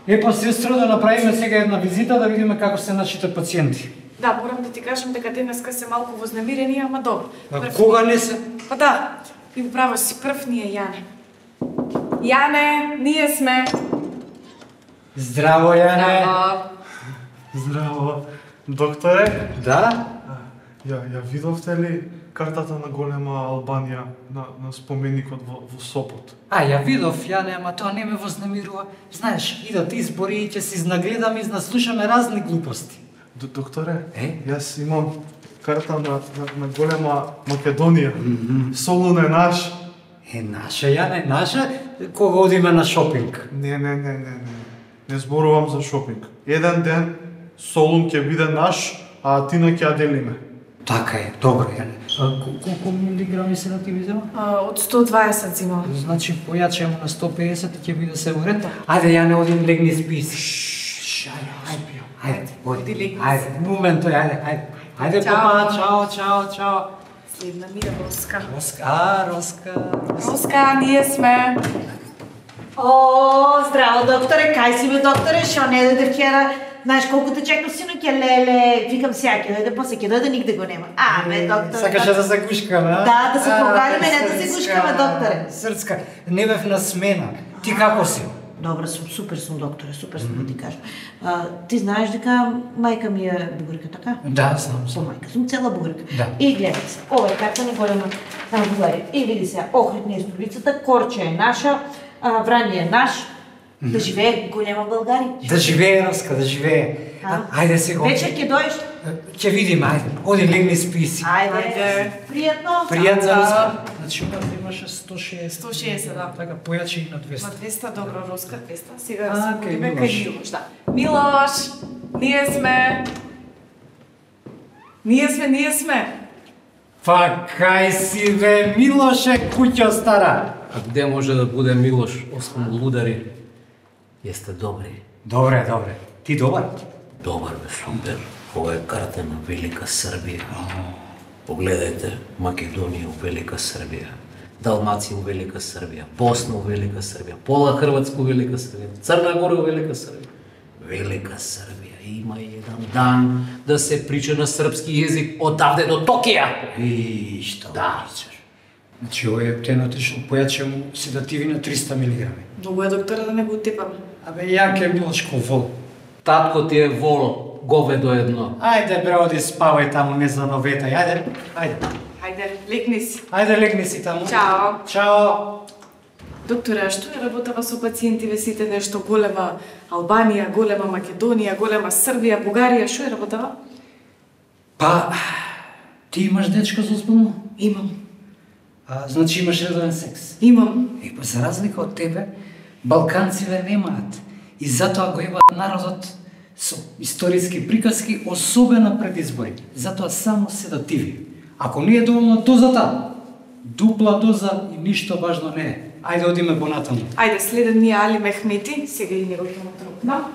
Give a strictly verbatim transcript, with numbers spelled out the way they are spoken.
Епа, сестро, да направиме сега една визита да видиме како се нашите пациенти. Да, морам да ти кажам дека денеска се малку вознемирени, ама добро. А кога не се? Па да, и право си прв ние Јане. Јане, ние сме. Здраво, Јане. Здраво. Здраво. Докторе? Да? Ја, ја видовте ли картата на голема Албанија на, на споменикот во, во Сопот? А, ја видов, Јане, ама тоа не ме вознемирува. Знаеш, идат избори и ќе се изнагледаме и наслушаме разни глупости. Д Докторе, Е? јас имам карта на, на, на голема Македонија. Mm -hmm. Солун е наш. Е, наша, Јане, наша, кога одиме на шопинг. Не, не, не, не, не. Не зборувам за шопинг. Еден ден Солун ќе биде наш, а Атина ќе ја делиме. Така е, добро, Јане. А, колку милиграми се да ти ми зема? Од сто дваесет зимам. Значи, појачемо на сто педесет и ќе биде се уред. Ајде, Јане, одим легни списи. Шш, ајде, ајде, ајде, Иди, ајде, момент, ајде, ајде. Ајде, Чао. папа, чао, чао, чао. Следна ми е Роска. Роска, а, Роска. Роска, ние сме. О, здраво, докторе, кај си бе, докторе, шо не дојде вчера? Знаеш колку те чекам, синоќе, леле, викам сега ќе дојде, после ќе дојде, нигде го нема. А, бе, докторе. Сакаше да се гушкаме, а? Да, да се А, погалиме, не да се Срцка, гушкаме, докторе. Срцка, не бев на смена. Ти како си? Добра сум, супер сум, докторе, супер сум да ти кажам. А, ти знаеш дека мајка ми е бугарка, така? Да, знам Со сум. мајка сум цела бугарка. Да. И гледај се, ова е карта на голема на Бугарија. И види се, Охрид не е столицата, Корча е наша, а, Врање е наш. Да живее голема Българија. Да живее, Роска, да живее. А? Ајде сега. Вечер ќе дојдеш? Ќе видиме, ајде. Оди легни списи. Ајде. Ајде. Пријатно. Пријатно, Да. Роска. Значи, ова имаше сто шеесет. сто шеесет, да. Така, појачи и на На двеста. двеста, добро, Роска, двеста. Сега А, се кај одиме Милош. кај Милош, да. Милош, ние сме. Ние сме, ние сме. Па кај си бе, Милоше, куќо стара? А где може да буде Милош, освен лудари? Јесте добри. Добре, добре. Ти добар? Добар бе, супер. Ова е карта на Велика Србија. Погледајте, Македонија у Велика Србија, Далмација у Велика Србија, Босна у Велика Србија, пола Хрватска у Велика Србија, Црна Гора у Велика Србија. Велика Србија има еден дан да се прича на српски јазик одавде до Токија. И што Да. причаш? Значи, овој ептенот што појаче му седативи на триста милиграми. Многу е, доктора, да не го утепаме. Абе, јаке Милошко вол. Татко ти е воло, говедо едно. Ајде, бре, оди спавај таму, не за новета. Ајде, ајде. Хајде, легни си. Ајде, легни си таму. Чао. Чао. Докторе, а што е работава со пациентиве сите нешто голема Албанија, голема Македонија, голема Србија, Бугарија, што е работава? Па, ти имаш дечко за озбилно? Имам. А, значи имаш редовен секс. Имам. Е, па, за разлика од тебе, балканциве немаат. И затоа го ебаат народот со историски приказки, особено пред избори. Затоа само седативи. Ако не е доволно дозата, дупла доза и ништо важно не е. Ајде одиме понатаму. Ајде, следен ни е Али Мехмети, сега и него ќе му трукнам.